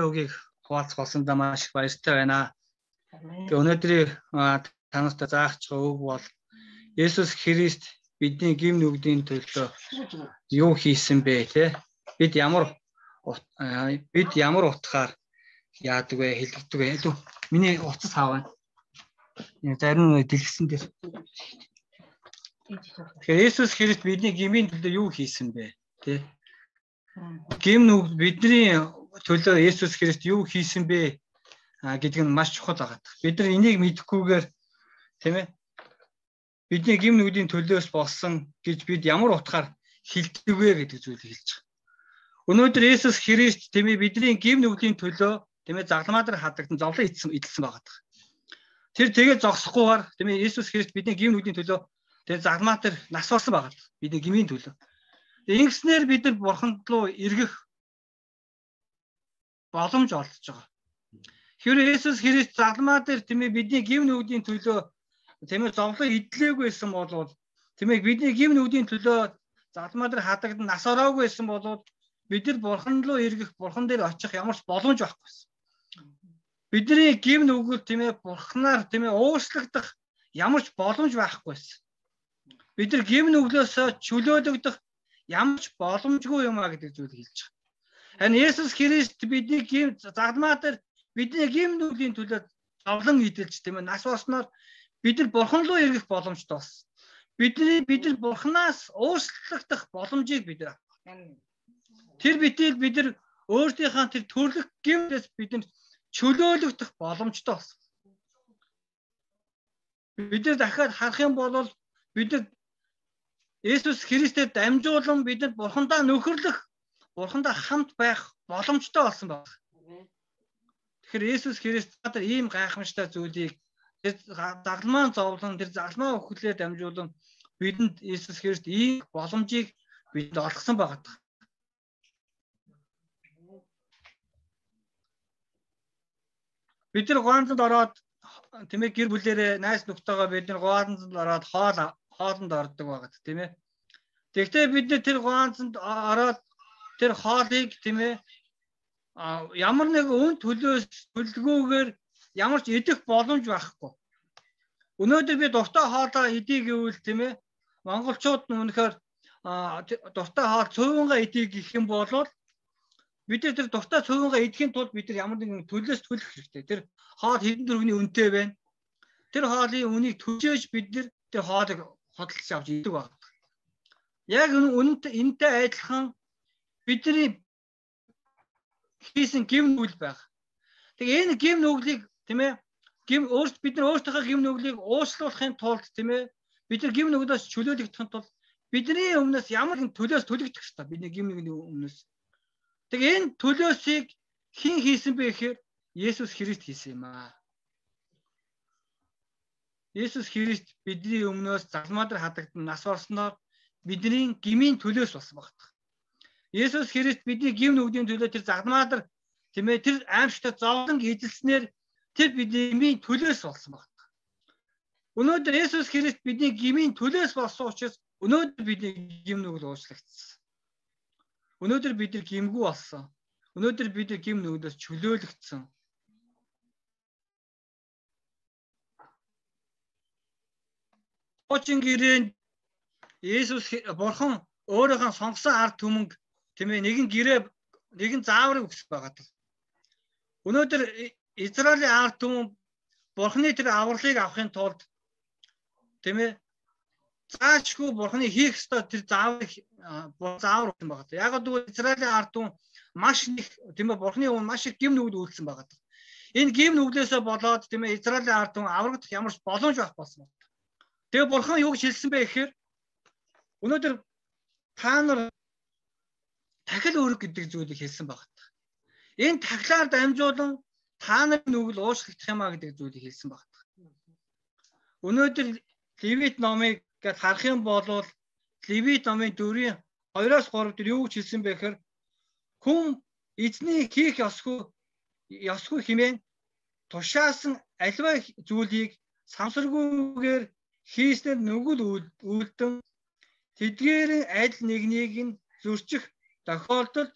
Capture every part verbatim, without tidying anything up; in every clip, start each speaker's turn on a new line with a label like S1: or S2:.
S1: Үгийг хуваалцах болсондоо маш их баяртай байна. Тэгээ өнөөдрийн танартай заах үг бол Есүс Христ бидний гим нүгдийн төлөө юу хийсэн бэ те? Бид ямар бид ямар утгаар яадаг вэ, хэлдэг вэ? Миний утас хаваа. Зарим дэлгэсэн дээр. Тэгэхээр Есүс Христ бидний гмийн төлөө юу хийсэн бэ? Тэ? Гим нүг бидний төлөө Есүс Христ юу хийсэн бэ гэдэг нь маш чухал байгаа. Бид нар энийг мэдэхгүйгээр тийм ээ бидний гим нүгдийн төлөөс болсон гэж бид ямар утгаар хэлдэг вэ гэдэг зүйлийг хэлж байгаа. Өнөөдөр Есүс Христ тийм ээ бидний гим нүгдийн төлөө тийм ээ загламаа дээр хадагдан зовлон идсэн идэлсэн байгаа. Тэр тэгээд зогсохгүйгээр тийм ээ Есүс Христ бидний гим нүгдийн төлөө тэгээд загламаа дээр нас болсон байгаа. Бидний гмийн төлөө. Ингэснээр бид нар Бурханд руу эргэх боломж олдож байгаа. Хэрвээ Есүс Христ загламаа дээр тийм ээ бидний гим нүгдийн төлөө тийм ээ зовлон идлээгүй байсан бол тийм ээ бидний гим нүгдийн төлөө загламаа дээр хадагдан нас ороогүй байсан бол бид нар Бурханд руу эргэх, Бурхан дээр очих ямар ч боломж байхгүй байсан. Бидний гим нүгэл тийм ээ Бурханаар тийм ээ уушлагдах ямар ч боломж байхгүй байсан. Бид нар гим нүглөөсөө чөлөөлөгдөх ямар ч боломжгүй юм а гэдэг зүйлийг хэлж байгаа. Харин Есүс Христ бидний гим загламаа дээр бидний гим нүглийн төлөө зовлон идэлж тийм ээ нас болсноор бид нар Бурхан руу эргэх боломжтой болсон. Бидний бид нар Бурханаас уушлагдах боломжийг бид нар авах. Тэр битэл бид нар өөрсдийнхээ тэр төрлөх гимнээс бид нар чөлөөлөгдөх боломжтой болсон. Бид нар дахиад харах юм бол бид нар Есүс Христээр дамжуулан бид нар Бурхандаа нөхөрлөх, Бурхандаа хамт байх боломжтой болсон байна. Тэгэхээр Есүс Христ надад ийм гайхамшигтай зүйлийг тэр загламаа зовлон, тэр загламаа өхлөөр дамжуулан бидэнд Есүс Христ ийм боломжийг бидэнд олгосон байна. Бид нар гуанзанд ороод тийм ээ гэр бүлэрээ найз нөхдөйгөө бид нар гуанзанд ороод хоол хоолнд ордог байгаа тийм ээ. Тэгвэл бид нар тэр гуанзанд ороод тэр хоолыг тийм ээ ямар нэг үн төлөөс төлгөөгөр ямар ч идэх боломж байхгүй. Өнөөдөр би дуртай хоолоо идэх гэвэл тийм ээ монголчууд нь үнэхээр дуртай хоол цөөнгаа идэх гэх юм бол бид нар тэр дуртай цөөнгаа идэхийн тулд бид нар ямар нэгэн төлөөс төлөх хэрэгтэй. Тэр хоол хэдэн төгрөгийн үнэтэй байна. Тэр хоолын үнийг төжөөж бид нар тэр хоолыг хөдөлж авч идэг байна. Яг үнэнтэй энэтэй адилхан бидний хийсэн гим нүгэл байх. Тэгээ энэ гим нүглийг тийм ээ гим өөрт бид нар өөртөөхөө гим нүглийг уучлуулахын тулд тийм ээ бид нар гим нүглээс чөлөөлөгдөхын тулд бидний өмнөөс ямар нэгэн төлөөс төлөгдөх ёстой. Бидний гим нүгний өмнөөс. Тэгээ энэ төлөөсийг хэн хийсэн бэ гэхээр Есүс Христ хийсэн юм аа. Есүс Христ бидний өмнөөс загламаа дээр хадагдан нас орсноор бидний гмийн төлөөс болсон багтах. Есүс Христ бидний гим нүгдийн төлөө тэр загламаа дээр тийм ээ тэр аимшигтай зовлон эзэлснээр тэр бидний гмийн төлөөс болсон багтах. Өнөөдөр Есүс Христ бидний гмийн төлөөс болсон учраас өнөөдөр бидний гим нүгэл уучлагдсан. Өнөөдөр бид нар гимгүү болсон. Өнөөдөр бид нар гим нүглээс чөлөөлөгдсөн. Хуучин гэрээнд Есүс Бурхан өөрийнхөө сонгосон ард түмэнг тийм ээ нэгэн гэрээ нэгэн зааврыг өгсөн байгаа. Өнөөдөр Израилийн ард түмэн Бурханы тэр авралыг авахын тулд тийм ээ заашгүй Бурханы хийх ёстой тэр зааврыг заавар өгсөн байгаа. Яг гэвэл Израилийн ард түмэн маш их тийм ээ Бурханы өмнө маш их гим нүгэл үйлдсэн байгаа. Энэ гим нүглээсээ болоод тийм ээ Израилийн ард түмэн аврагдах ямар ч боломж байх болсон. Тэгээ Бурхан юу гэж хэлсэн бэ гэхээр өнөөдөр та нар тахил өрг гэдэг зүйлийг хэлсэн байна. Энэ тахилаар дамжуулан та нарын нүгэл уушлагдах юм а гэдэг зүйлийг хэлсэн байна. Өнөөдөр Левит номыг гэд харах юм бол Левит номын дөрвийн хоёроос гурав дээр юу гэж хэлсэн бэ гэхээр хүн эзний хийх ёсгүй ёсгүй хэмээн тушаасан аливаа зүйлийг самсаргүйгээр хийснээр нүгэл үлдэн тэдгээрийн аль нэгнийг нь зөрчих тохиолдолд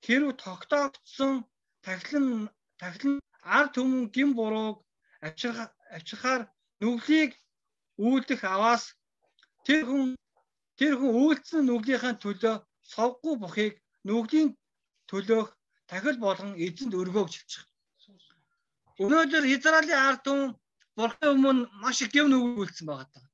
S1: хэрв тогтоогдсон тахилан тахилан ард түмэн гин бурууг авчирх авчирхаар нүглийг үйлдэх аваас тэр хүн тэр хүн үйлдсэн нүглийнхаа төлөө совгүй бохыг нүглийн төлөөх тахил болгон эзэнд өргөөг жилчих. Өнөөдөр Израилийн ард түмэн Бурхны өмнө маш их гэм нүг үйлдсэн байгаа даа.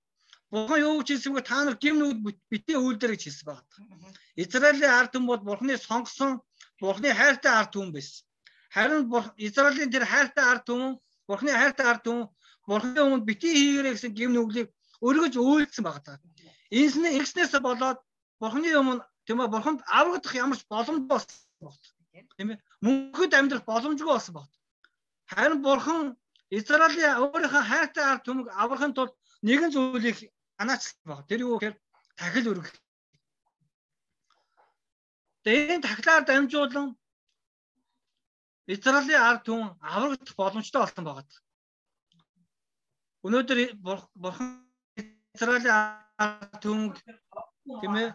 S1: Бурхан юу гэж хэлсэн бэ? Та нар гэм нүг битээ үйлдэр гэж хэлсэн байгаа даа. Израилийн ард түмэн бол Бурхны сонгосон, Бурхны хайртай ард түмэн байсан. Харин Израилийн тэр хайртай ард түмэн, Бурхны хайртай ард түмэн Бурхны өмнө битээ хийгээрэй гэсэн гэм нүглийг өргөж үйлдсэн байгаа даа. Инснэ ихснээс болоод Бурхны өмнө тийм ээ Бурханд аврагдах ямар ч боломж болсон байна. Тийм ээ. Мөнхөд амьдрах боломжгүй болсон байна. Харин Бурхан Израилийн өөрийнхөө хайртай ард түмэг аврахын тулд нэгэн зүйлийг анаачлсан байна. Тэр юу гэхээр тахил өргөх. Тэгээд энэ тахилаар дамжуулан Израилийн ард түмэн аврагдах боломжтой болсон байна. Өнөөдөр Бурхан Израилийн ард түмэг тийм ээ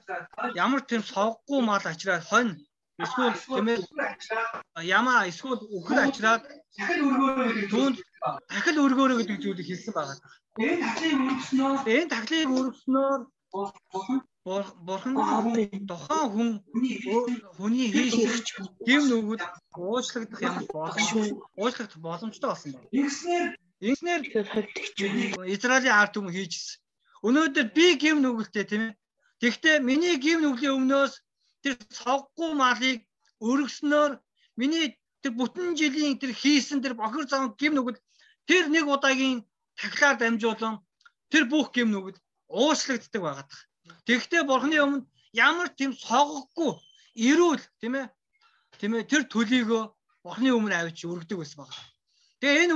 S1: ямар тийм совгүй мал ачраад хонь эсвэл тийм ээ ямаа эсвэл өхөр ачраад түүнд тахил өргөөрэй гэдэг зүйлийг хэлсэн байгаа. Энэ тахлыг өргөснөөр энэ тахлыг өргөснөөр Бурхан тухайн хүн хүний хийх гэм нүгэл уучлагдах юм боломжтой уучлагдах боломжтой болсон байна. Ингэснээр ингэснээр Израилийн ард түмэн хийжсэн. Өнөөдөр би гэм нүгэлтэй тийм ээ. Тэгэхдээ миний гэм нүглийн өмнөөс тэр цоггүй малыг өргөснөөр миний тэр бүтэн жилийн тэр хийсэн тэр бохир зам гэм нүгэл тэр нэг удаагийн тахилаар дамжуулан тэр бүх гэм нүгэл уучлагддаг байгаад. Тэгэхдээ Бурхны өмнө ямар тийм цоггүй эрүүл тийм ээ тийм ээ тэр төлийгөө Бурхны өмнө авч өргөдөг байсан байна. Тэгээ энэ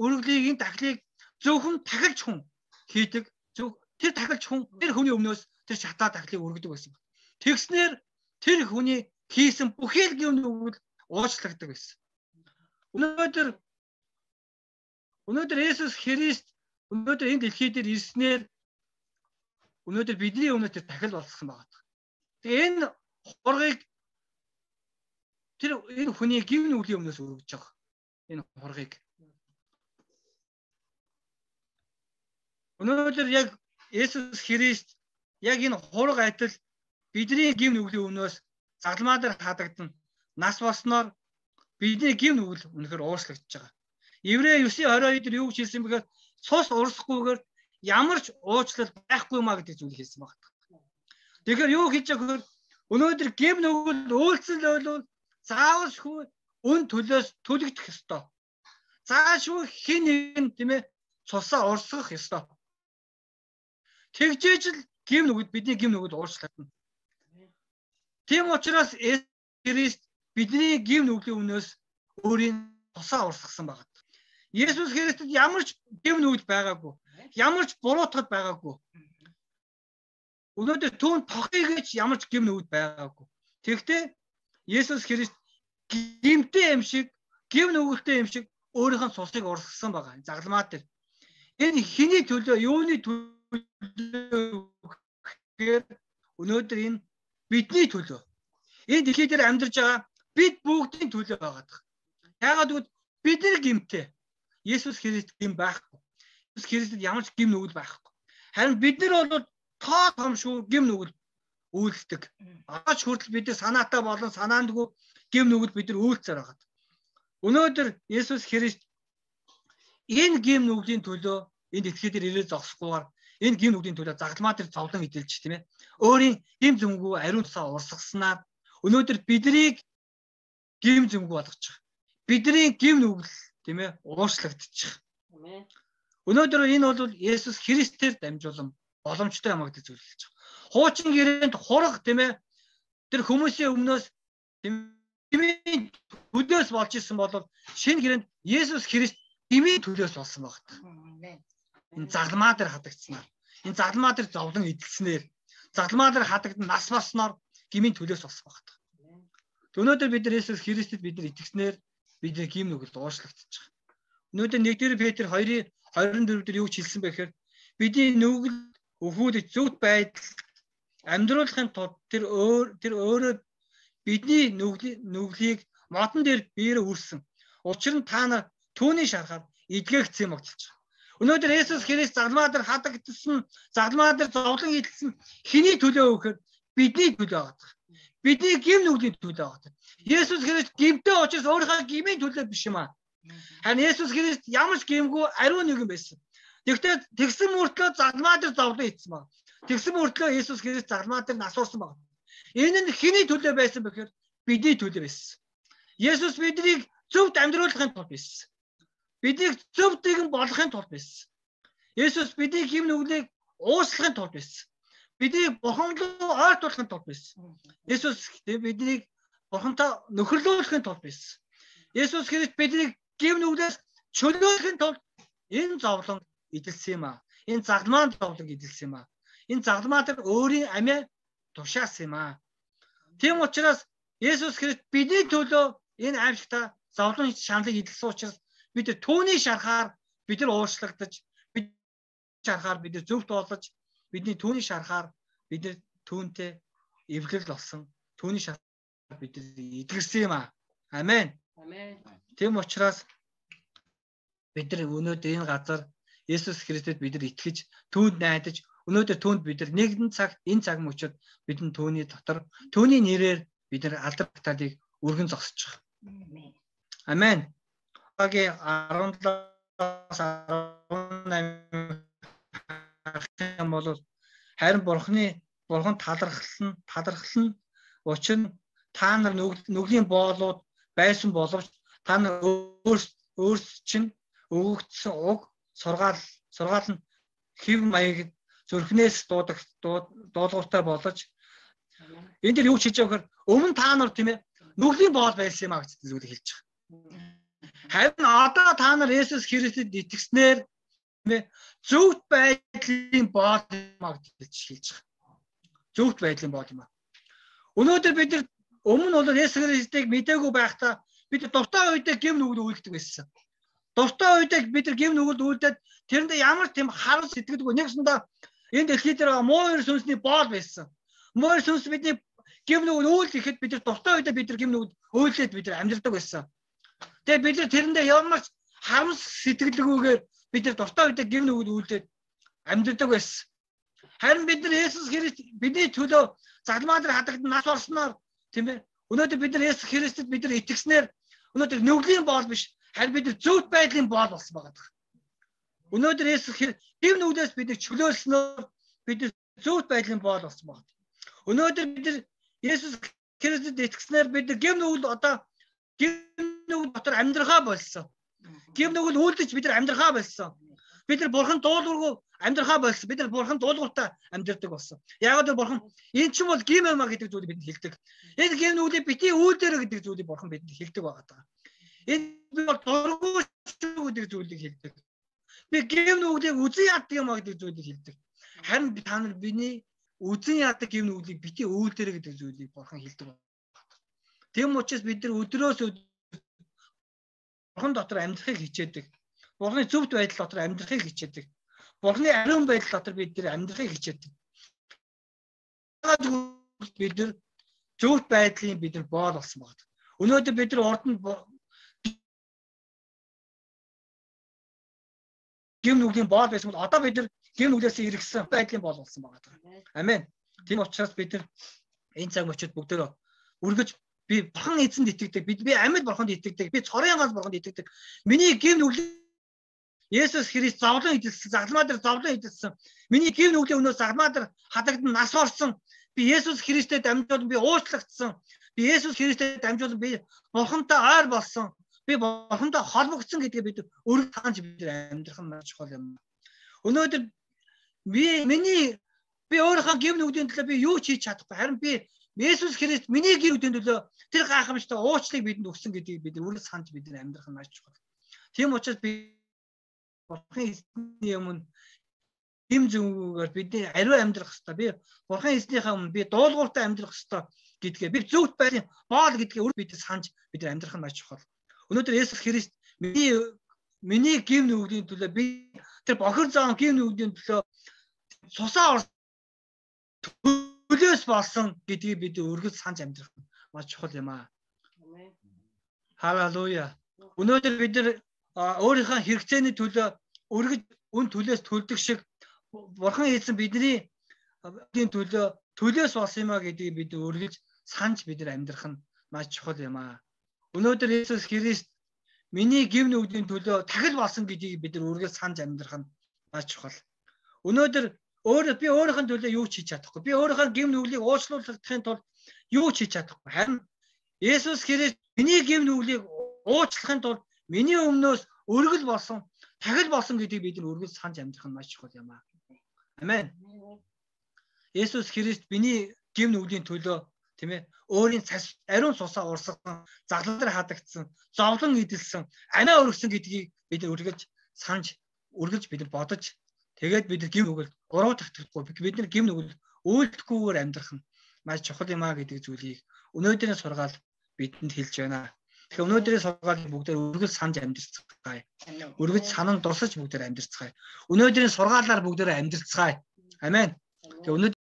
S1: өргөлийг энэ тахилыг зөвхөн тахилч хүн хийдэг. Тэр тахилч хүн тэр хүний өмнөөс тэр шатаа тахилыг өргөдөг байсан. Тэгснээр тэр хүний хийсэн бүхэл гэм нүгэл уучлагддаг байсан. Өнөөдөр өнөөдөр Есүс Христ өнөөдөр энэ дэлхий дээр ирснээр өнөөдөр бидний өмнө тэр тахил болсон байгаа. Тэгээ энэ хургийг тэр энэ хүний гэм нүглийн өмнөөс өргөж байгаа. Энэ хургийг. Өнөөдөр яг Есүс Христ яг энэ хураг адил бидний гэм нүглийн өмнөөс загламаа дээр хадагдан нас болсноор бидний гэм нүгэл үнэхээр уучлагдж байгаа. Еврей девять двадцать deux дээр юу гэж хэлсэн бэхээр цус урсахгүйгээр ямар ч уучлал байхгүй маа гэдэг зүйлийг хэлсэн байна. Тэгэхээр юу хийж байгаа гэхээр өнөөдөр гэм нүгэл үйлцэл ойлвол заавалшгүй өн төлөөс төлөгдөх ёстой. Заашгүй хэн нэгэн тийм ээ цусаа урсгах ёстой. Тэгжээж л гэм нүгэл бидний гэм нүгэл уучлагдана. Тийм учраас Христ бидний гэм нүглийн өмнөөс өөрийн тусаа урсгасан байна. Есүс Христэд ямар ч гэм нүгэл байгаагүй. Ямар ч буруутгал байгаагүй. Өнөөдөр түүнд тохыг гэж ямар ч гэм нүгэл байгаагүй. Тэгэхдээ Есүс Христ гэмтэй юм шиг, гэм нүгэлтэй юм шиг өөрийнхөө цусыг урсгасан байна. Загламаа дээр. Энэ хэний төлөө, юуны төлөө гэхээр өнөөдөр энэ бидний төлөө. Энэ дэлхий дээр амьдарч байгаа бид бүгдийн төлөө байгаа. Яагаад гэвэл бид нар гэмтэй. Есүс Христ гэм байхгүй. Есүс Христэд ямар ч гэм нүгэл байхгүй. Харин бид нар бол тоо том шүү гэм нүгэл үйлддэг. Агаач хүртэл бид нар санаатай болон санаандгүй гэм нүгэл бид нар үйлцээр байгаа. Өнөөдөр Есүс Христ энэ гэм нүглийн төлөө энэ дэлхий дээр ирээд зогсохгүйгээр энэ гэм нүглийн төлөө загламаа дээр зовлон идэлж тийм ээ. Өөрийн гэм зүмгүү ариун цаа урсгаснаар өнөөдөр биднийг гэм зүмгүү болгож байгаа. Бидний гэм нүгэл тийм ээ уучлагдчих. Амен. Өнөөдөр энэ бол Есүс Христээр дамжуулан боломжтой юм гэдэг зүйл хэлж байгаа. Хуучин гэрээнд хураг тийм ээ тэр хүмүүсийн өмнөөс тэмээ төлөөс болж исэн бол шинэ гэрээнд Есүс Христ тэмээ төлөөс болсон байна. Энэ загламаа дээр хадагдсанаар, энэ загламаа дээр зовлон идэлснээр, загламаа дээр хадагдан нас болсноор гмийн төлөөс болсон байна. Өнөөдөр бид нар Есүс Христэд бид нар итгэснээр бидний гэм нүгэл уучлагдчих байгаа. Өнөөдөр нэгдүгээр Петр хоёрын двадцать four дээр юу ч хэлсэн бэ гэхээр бидний нүгэл өвгүүлж зөвхт байдал амьдруулахын тулд тэр өөр тэр өөрөө бидний нүглийг модон дээр биеэр үрсэн. Учир нь та нар түүний шарахаар эдгээгдсэн юм гэж байна. Өнөөдөр Есүс Христ загламаа дээр хадагдсан, загламаа дээр зовлон идэлсэн хэний төлөө өгөхөөр бидний төлөө байгаа. Бидний гим нүглийн төлөө байгаа. Есүс Христ гимтэй учраас өөрийнхөө гмийн төлөө биш юм аа. Харин Есүс Христ ямар ч гимгүй ариун нэгэн байсан. Тэгвэл тэгсэн мөртлөө загламаа дээр зовлон идсэн баг. Тэгсэн мөртлөө Есүс Христ загламаа дээр насурсан баг. Энэ нь хэний төлөө байсан бэхээр бидний төлөө байсан. Есүс биднийг зөвхт амьдруулахын тулд байсан. Биднийг зөв тэгэн болгохын тулд байсан. Есүс бидний гим нүглийг ууслахын тулд байсан. Биднийг Бурхан руу ойртуулахын тулд байсан. Есүс биднийг Бурхантай нөхөрлүүлэхин тулд байсан. Есүс Христ биднийг гим нүглээс чөлөөлөхин тулд энэ зовлон идэлсэн юм аа. Энэ загламаа зовлон идэлсэн юм аа. Энэ загламаа дээр өөрийн амиа тушаасан юм аа. Тийм учраас Есүс Христ бидний төлөө энэ аимшигтай зовлон шаналыг идэлсэн учраас бид түүний шарахаар бид нар уушлагдаж, бид шарахаар бид нар зөвхт болж, бидний түүний шарахаар бид нар түүнтэй эвлэл болсон. Түүний шарахаар бид нар эдгэрсэн юм аа. Амен.
S2: Амен.
S1: Тийм учраас бид нар өнөөдөр энэ газар Есүс Христэд бид нар итгэж, түүнд найдаж, өнөөдөр түүнд бид нар нэгэн цагт энэ цаг мөчид бидэн түүний дотор, түүний нэрээр бид нар алдар баталыг өргөн зогсож байгаа. Амен. Агийн арван талаас арван намын бол харин Бурхны Бурхан талархал нь талархал нь учир нь та нар нүглийн боолууд байсан боловч та нар өөрс чинь өгөгдсөн уг сургаал сургаал нь хэв маяг зүрхнээс дуудаг дуулууртай болж энэ дэр юу хийж байгаа гэхээр өмнө та нар тийм ээ нүглийн боол байсан юм а гэж зүйлийг хэлж байгаа. Харин одоо та нар Есүс Христэд итгэснээр тийм ээ зөвхт байдлын боол юм а гэж хэлж байгаа. Зөвхт байдлын боол юм а. Өнөөдөр бид нар өмнө бол Есүс Христийг мэдээгүй байхдаа бид дуртай үедээ гим нүгэл үйлддэг байсан. Дуртай үедээ бид нар гим нүгэлд үйлдээд тэрэндээ ямар тийм харал сэтгэдэггүй нэгсэндээ энэ дэлхий дээр муу эр сүнсний боол байсан. Муу эр сүнс бидний гим нүгэл үйл гэхэд бид нар дуртай үедээ бид нар гим нүгэл үйлдээд бид нар амьдардаг байсан. Тэгээ бид нар тэрэндээ ямар ч харамс сэтгэлгүйгээр бид нар дуртай үедээ гим нүгэл үйлдээд амьдардаг байсан. Харин бид нар Есүс Христ бидний төлөө загламаа дээр хадагдан нас орсноор тийм ээ өнөөдөр бид нар Есүс Христэд бид нар итгэснээр өнөөдөр нүглийн боол биш харин бид нар зөвхт байдлын боол болсон байгаа. Өнөөдөр Есүс гим нүглээс биднийг чөлөөлснөөр бид нар зөвхт байдлын боол болсон байна. Өнөөдөр бид нар Есүс Христэд итгэснээр бид нар гим нүгэл одоо гим нүгэл дотор амьдрахаа болсон. Гим нүгэл үйлдэж бид нар амьдрахаа болсон. Бид нар Бурхан дуулуургүй амьдрахаа болсон. Бид нар Бурхан дуулууртай амьдрдаг болсон. Яг л Бурхан энэ ч юм бол гим юм а гэдэг зүйлийг бидэнд хэлдэг. Энэ гим нүглийг бити үйлдээрэ гэдэг зүйлийг Бурхан бидэнд хэлдэг байгаа. Энэ бол дургүй гэдэг зүйлийг хэлдэг. Би гим нүглийг үзэн яадаг юм а гэдэг зүйлийг хэлдэг. Харин та нар биний үзэн яадаг гим нүглийг бити үйлдээрэ гэдэг зүйлийг Бурхан хэлдэг. Тэм учраас бид нар өдрөөс өдөр Бурхан дотор амьдрахыг хичээдэг. Бурханы зөвхт байдал дотор амьдрахыг хичээдэг. Бурханы ариун байдал дотор бид нар амьдрахыг хичээдэг. Бид нар зөвхт байдлын бид нар боол болсон байна. Өнөөдөр бид нар урд нь гим нүглийн боол байсан бол одоо бид нар гим нүглээс иргэсэн байдлын боол болсон байна. Амен. Тийм учраас бид нар энэ цаг мөчид бүгдөө үргэж би Бурхан эзэнд итгэдэг. Бид би амьд Бурханд итгэдэг. Би цорын гал Бурханд итгэдэг. Миний гим нүглийн Есүс Христ зовлон идэлсэн, загламаа дээр зовлон идэлсэн. Миний гим нүглийн өнөөс загламаа дээр хадагдан нас орсон. Би Есүс Христэд дамжуулан би уучлагдсан. Би Есүс Христэд дамжуулан би Бурхантай ойр болсон. Би Бурхантай холбогдсон гэдгээ бид өрг таанч бид амьдрах нь маш чухал юм. Өнөөдөр би миний би өөрийнхөө гим нүглийн төлөө би юу ч хийж чадахгүй. Харин би Есүс Христ миний гим нүглийн төлөө тэр гайхамшигтай уучлалыг бидэнд өгсөн гэдгийг бид өрг санаж бид амьдрах нь маш чухал. Тийм учраас би Бурхан эзний өмнө гим зүгүүгээр бидний ариун амьдрах хэрэгтэй. Би Бурхан эзнийхээ өмнө би дуулууртай амьдрах хэрэгтэй гэдгээ би зөвхт байрын боол гэдгээ өөр бид санаж бид амьдрах нь маш чухал. Өнөөдөр Есүс Христ миний миний гим нүглийн төлөө би тэр бохир зам гим нүглийн төлөө цусаа төлөөс болсон гэдгийг бид өргөж санаж амьдрах нь маш чухал юм аа. Халелуя. Өнөөдөр бид нар өөрийнхөө хэрэгцээний төлөө өргөж үн төлөөс төлдөг шиг Бурхан хийсэн бидний төлөө төлөөс болсон юм а гэдгийг бид өргөж санаж бид нар амьдрах нь маш чухал юм а. Өнөөдөр Есүс Христ миний гэв нүгдийн төлөө тахил болсон гэдгийг бид нар өргөж санаж амьдрах нь маш чухал. Өнөөдөр өөр би өөрийнхөө төлөө юу ч хийж чадахгүй. Би өөрийнхөө гэв нүглийг уучлуулахын тулд юу ч хийж чадахгүй. Харин Есүс Христ миний гэв нүглийг уучлахын тулд миний өмнөөс өргөл болсон, тахил болсон гэдгийг бид нар өргөж санаж амьдрах нь маш чухал юм аа. Амен. Есүс Христ миний гэв нүглийн төлөө тийм ээ өөрийн цас ариун цусаа урсган, заглан дээр хадагдсан, зовлон идэлсэн, амиа өргөсөн гэдгийг бид нар өргөж санаж, өргөж бид нар бодож тэгээд бид нар гэв нүгэл гурав дахь дахихгүй бид нар гэв нүгэл үйлдэхгүйгээр амьдрах нь маш чухал юм аа гэдэг зүйлийг өнөөдрийн сургаал бидэнд хэлж байна. Тэгэхээр өнөөдрийн сургаалыг бүгдээр өргөж санаж амьдрцгаая. Өргөж санан дусаж бүгдээр амьдрцгаая. Өнөөдрийн сургаалаар бүгдээр амьдрцгаая. Амен. Тэгээ